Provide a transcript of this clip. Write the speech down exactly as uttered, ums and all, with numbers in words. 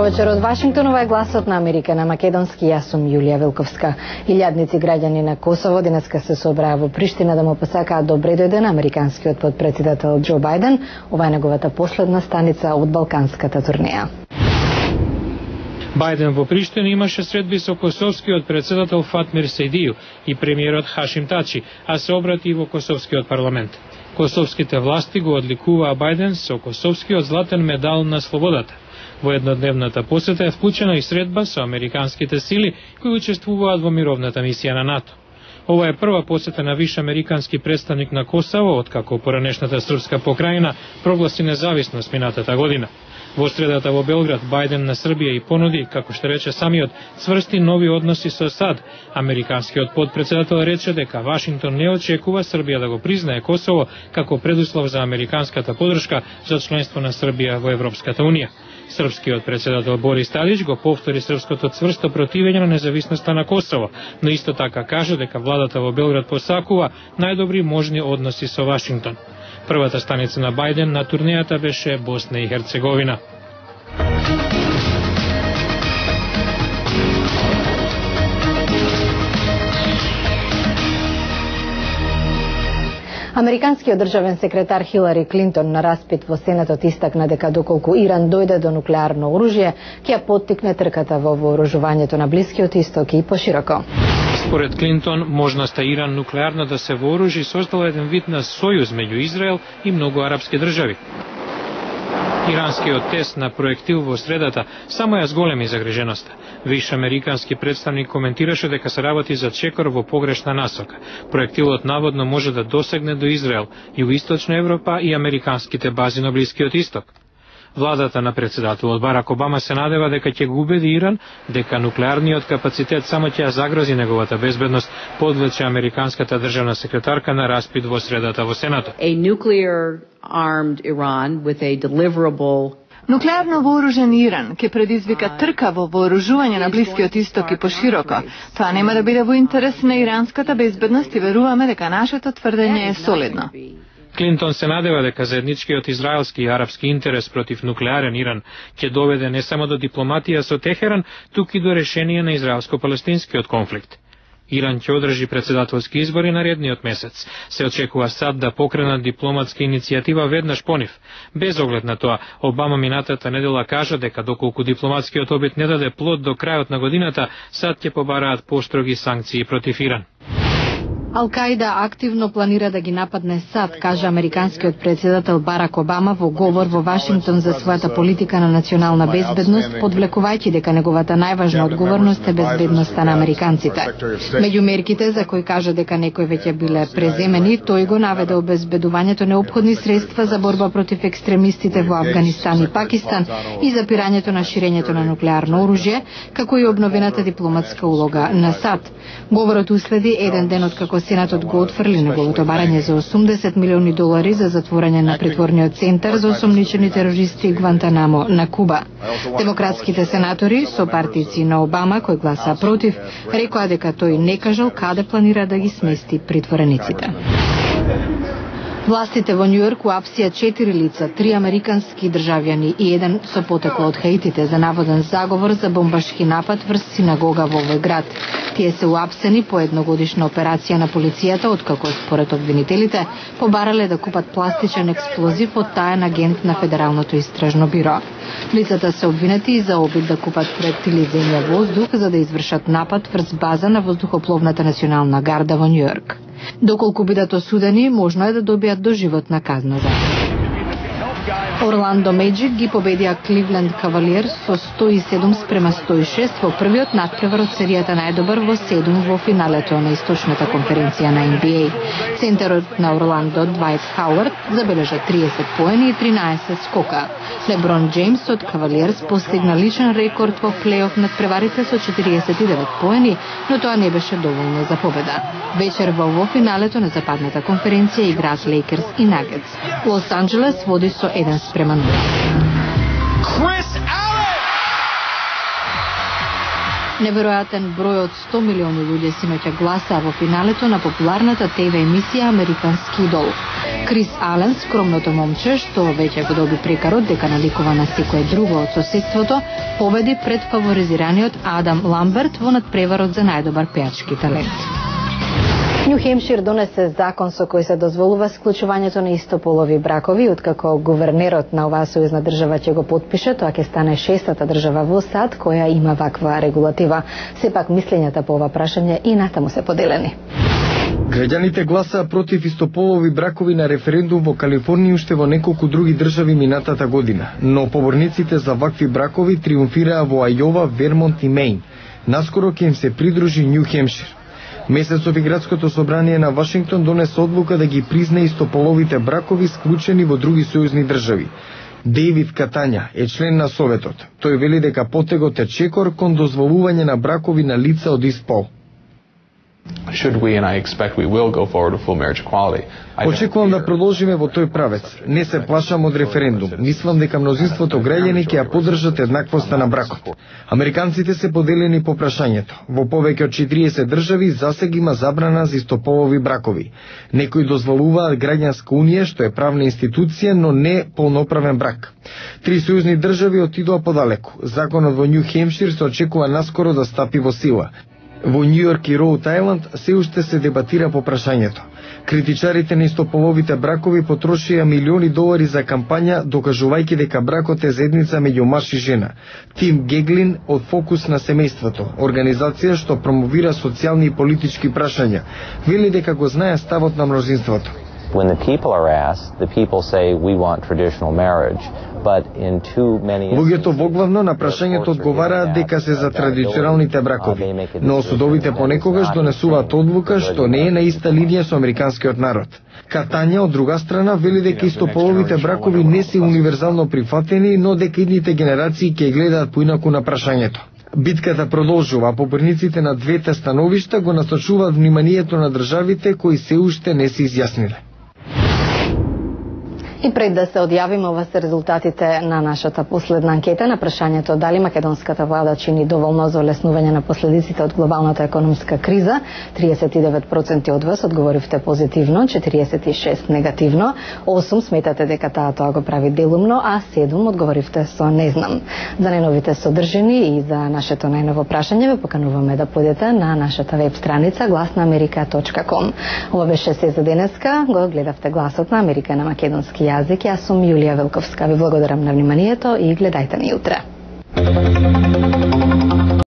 вечер од Вашингтон, ова е гласот на Америка на македонски. Јас сум Јулија Велковска. Илјадници граѓани на Косово денеска се собраа во Приштина да му посакаат добре дојде на американскиот потпредседател Џо Бајден. Ова е неговата последна станица од балканската турнеја. Бајден во Приштина имаше средби со косовскиот председател Фатмир Сейдију и премиерот Хашим Тачи, а се обрати и во косовскиот парламент. Косовските власти го одликуваа Бајден со косовскиот златен медал на слободата. Во еднодневната посета е вклучена и средба со американските сили кои учествуваат во мировната мисија на НАТО. Ова е прва посета на виш американски представник на Косово откако поранешната српска покрајина прогласи независност минатата година. Во средата во Белград Бајден на Србија и понуди, како што рече самиот, цврсти нови односи со САД. Американскиот потпредседател рече дека Вашингтон не очекува Србија да го признае Косово како предуслов за американската поддршка за членство на Србија во Европската унија. Српскиот председател Борис Талич го повтори српското цврсто противење на независноста на Косово, но исто така кажа дека владата во Белград посакува најдобри можни односи со Вашингтон. Првата станица на Бајден на турнејата беше Босна и Херцеговина. Американскиот државен секретар Хилари Клинтон на распит во Сенатот истакна дека доколку Иран дојде до нуклеарно оружје, ќе ја поттикне трката во вооружувањето на Блискиот Исток и пошироко. Според Клинтон, можноста Иран нуклеарно да се вооружи создала еден вид на сојуз меѓу Израел и многу арапски држави. Иранскиот тест на проектил во средата само ја зголеми загриженоста. Виш американски представник коментираше дека се работи за чекор во погрешна насока. Проектилот наводно може да досегне до Израел, Југоисточна Европа и американските бази на Блискиот Исток. Владата на председателот Барак Обама се надева дека ќе го убеди Иран дека нуклеарниот капацитет само ќе ја загрози неговата безбедност, подлече американската државна секретарка на распит во средата во Сенатот. A nuclear armed Iran with a deliverable Нуклеарно вооружен Иран ќе предизвика трка во вооружување на Блискиот Исток и пошироко. Тоа нема да биде во интерес на иранската безбедност и веруваме дека нашето тврдење е солидно. Клинтон се надева дека заедничкиот израелски и арапски интерес против нуклеарен Иран ќе доведе не само до дипломатија со Техеран, туку и до решение на израелско-палестинскиот конфликт. Иран ќе одржи председателски избори наредниот месец. Се очекува САД да покренат дипломатска иницијатива веднаш по нив. Без оглед на тоа, Обама минатата недела кажа дека доколку дипломатскиот обид не даде плод до крајот на годината, САД ќе побараат поштроги санкции против Иран. Ал-Каида активно планира да ги нападне САД, кажа американскиот председател Барак Обама во говор во Вашингтон за својата политика на национална безбедност, подвлекувајќи дека неговата најважна одговорност е безбедноста на американците. Меѓу мерките за кои кажа дека некои веќе биле преземени, тој го наведе обезбедувањето неопходни средства за борба против екстремистите во Авганистан и Пакистан и запирањето на ширењето на нуклеарно оружје, како и обновената дипломатска улога на САД. Говорот уследи еден ден откако Сенатот го отфрли неговото барање за осумдесет милиони долари за затворање на притворниот центар за осомничени терористи Гвантанамо на Куба. Демократските сенатори, сопартици на Обама, кои гласа против, рекоа дека тој не кажал каде планира да ги смести притворениците. Властите во Њујорк уапсија четири лица, три американски државјани и еден со потекло од Хаитите за наводен заговор за бомбашки напад врз синагога во овој град. Тие се уапсени по едногодишна операција на полицијата, откако според обвинителите побарале да купат пластичен експлозив од таен агент на Федералното истражно биро. Лицата се обвинети и за обид да купат проектили земја воздух за да извршат напад врз база на воздухопловната национална гарда во Њујорк. Доколку бидат осудени, можно е да добијат доживотна казна за Орландо Меджик ги победија Кливленд Кавалиерс со сто и седум спрема сто и шест во првиот натпревар од серијата најдобар во седум во финалето на источната конференција на Н Б А. Центарот на Орландо Двајт Хауард забележа триесет поени и тринаесет скока. Леброн Джеймс од Кавалиерс постигна личен рекорд во плейоф надпреварите со четириесет и девет поени, но тоа не беше доволно за победа. Вечерва во финалето на западната конференција играат Лейкерс и Нагетс. Лос Анџелес води со еден спрема нула. Неверојатен број од сто милиони луѓе синоќа гласаа во финалето на популарната Т В емисија Американски идол. Крис Ален, скромното момче, што веќе го доби прекарот дека наликува на секое друго од соседството, победи пред фаворизираниот Адам Ламберт во надпреварот за најдобар пеачки талент. Нју Хемшир донесе закон со кој се дозволува склучувањето на истополови бракови, откако гувернерот на оваа сојузна држава ќе го потпише, тоа ќе стане шестата држава во САД која има ваква регулатива. Сепак мислењата по ова прашање и натаму се поделени. Граѓаните гласаа против истополови бракови на референдум во Калифорнија и уште во неколку други држави минатата година, но поборниците за вакви бракови триумфираа во Ајова, Вермонт и Мејн. Наскоро ќе им се придружи Нју Хемшир. Месецов и градското собрание на Вашингтон донесе одлука да ги призна истополовите бракови склучени во други сојузни држави. Дейвид Катања е член на Советот. Тој вели дека потегот е чекор кон дозволување на бракови на лица од ист пол. Should we, and I expect we will go forward with full marriage equality. Очекувам да продолжиме во тој правец. Не се плашам од референдум. Мислам дека мнозинството граѓани ќе ја поддржат еднаквоста на бракот. Американците се поделени по прашањето. Во повеќе од четириесет држави засега има забрана за истополови бракови. Некои дозволуваат граѓанска унија, што е правна институција, но не полноправен брак. Три сојузни држави отидоа подалеку. Законот во Нју Хемшир се очекува наскоро да стапи во сила. Во Њујорк и Роуд Ајланд се уште се дебатира по прашањето. Критичарите на истополовите бракови потрошија милиони долари за кампања, докажувајќи дека бракот е заедница меѓу маж и жена. Тим Геглин од Фокус на семејството, организација што промовира социјални и политички прашања, вели дека го знае ставот на мнозинството. When the people are asked, the people say we want traditional marriage. Луѓето воглавно на прашањето одговараат дека се за традиционалните бракови, но судовите понекогаш донесуваат одлука што не е на иста линија со американскиот народ. Катања, од друга страна, вели дека истополовите бракови не се универзално прифатени, но дека идните генерации ќе гледаат поинаку на прашањето. Битката продолжува, а поборниците на двете становишта го насочуваат вниманието на државите кои се уште не се изјасниле. И пред да се одјавиме, ова се резултатите на нашата последна анкета на прашањето дали македонската влада чини доволно за олеснување на последиците од глобалната економска криза. триесет и девет проценти од вас одговоривте позитивно, четириесет и шест негативно, осум сметате дека таа тоа го прави делумно, а седум одговоривте со не знам. За најновите содржини и за нашето најново прашање ве покануваме да појдете на нашата веб страница глас на америка точка ком. Ова беше се за денеска. Го гледавте Гласот на Америка на македонски јазик. Јас сум Јулија Велковска. Ви благодарам на вниманието и гледајте ни утре.